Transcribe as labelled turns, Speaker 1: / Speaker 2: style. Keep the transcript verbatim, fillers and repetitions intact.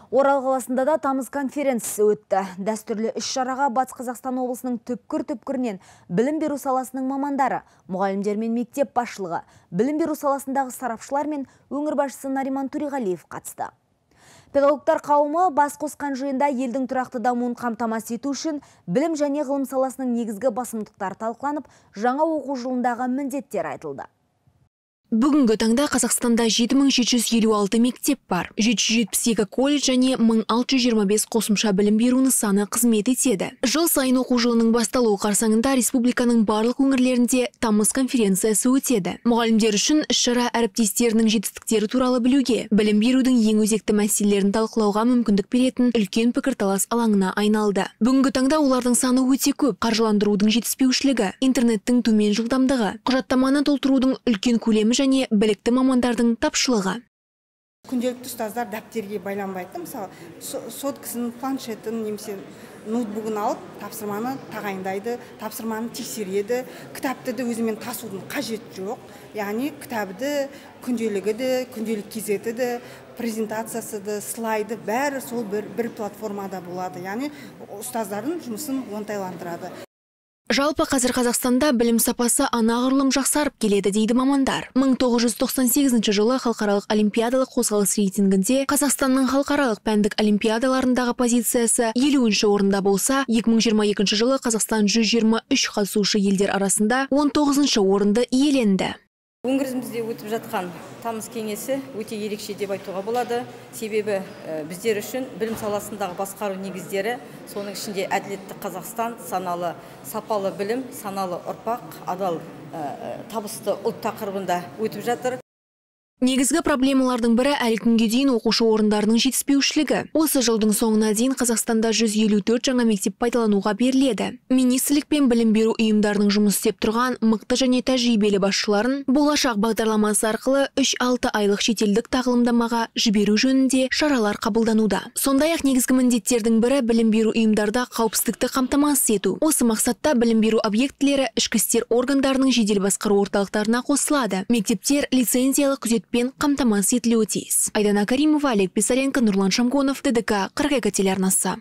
Speaker 1: Орал қаласында да тамыз конференциясы өтті. Дәстүрлі іс-шараға Батыс Қазақстан облысының түпкір-түпкірінен білім беру саласының мамандары, мұғалімдер мен мектеп басшылығы, білім беру саласындағы сарапшылар мен өңір басшысы Нариман Төреғалиев қатысты. Педагогтар қауымы бас қосқан жиында елдің тұрақты дамуын қамтамасыз ету үшін білім және ғылым саласының негізгі басымдықтары талқыланып, жаңа оқу жылындағы міндеттер айтылды.
Speaker 2: Бүгінгі таңда Қазақстанда жеті мың жеті жүз елу алты мектеп бар. жеті жүз жетпіс екі колледж және мың алты жүз жиырма бес қосымша білім беру нысаны қызмет етеді. Жыл сайын оқу жылының басталуы қарсаңында республиканың барлық өңірлерінде тамыз конференциясы өтеді. Мұғалімдер үшін іс-шара әріптестерінің жетістіктері туралы білуге, білім берудің ең өзекті мәселелерін талқылауға мүмкіндік беретін үлкен пікірталас алаңына айналды. Бүгінгі таңда олардың саны өте көп. Қаржыландырудың жетіспеушілігі, интернеттің төмен жылдамдығы, құжаттаманы толтырудың үлкен көлемі және білікті мамандардың тапшылығы.
Speaker 3: Күнделікті ұстаздар дәптерге байланбайды. Мысалы, соткасын, планшетін, немесе ноутбугын алып, тапсырманы тағайындайды, тапсырманы тексереді. Кітапты да өзімен тасудың қажет жоқ. Яғни кітабы, күнделігі де, күнделік кезеті де, презентациясы да, слайды бәрі сол бір, бір платформада болады. Яғни ұстаздардың жұмысын оңтайландырады.
Speaker 2: Жалпы қазір Қазақстанда білім сапасы анағұрлым жақсарып келеді дейді мамандар. мың тоғыз жүз тоқсан сегізінші жылы халықаралық олимпиадалық қозғалыс рейтингінде Қазақстанның халықаралық пәндік олимпиадаларындағы позициясы елуінші орында болса, екі мың жиырма екінші жылы Қазақстан жүз жиырма үш қатысушы елдер арасында он тоғызыншы орынды иеленді.
Speaker 4: Өңірімізде өтіп жатқан тамыз кеңесі өте ерекше деп айтуға болады. Себебі біздер үшін білім саласындағы басқару негіздері, соның ішінде әділетті Қазақстан, саналы сапалы білім, саналы ұрпақ, адал табысты ұлт тақырыбында өтіп жатыр.
Speaker 2: Негізгі проблемалардың бірі әлі күнге дейін оқушы орындарының жетіспеушілігі. Осы жылдың соңына дейін Қазақстанда жүз елу төрт жаңа мектеп пайдалануға беріледі. Министрлік пен білім беру ұйымдарының жұмыс істеп тұрған мықты және тәжірибелі басшыларын болашақ бағдарламасы арқылы үш алты айлық шетелдік тағылымдамаға жіберу жөнінде шаралар қабылдануда. Сондай-ақ негізгі міндеттердің бірі білім беру ұйымдарда қауіпсіздікті қамтамасыз ету. Осы мақсатта білім беру объектілері ішкі істер органдарының жедел басқару орталықтарына қосылады. Мектептер лицензиялық күзет пен қамтамасыз етілуі тиіс. Айдана Каримова, Олег Писаренко, Нұрлан Шамгонов, ТДК қырық екі телеарнасы.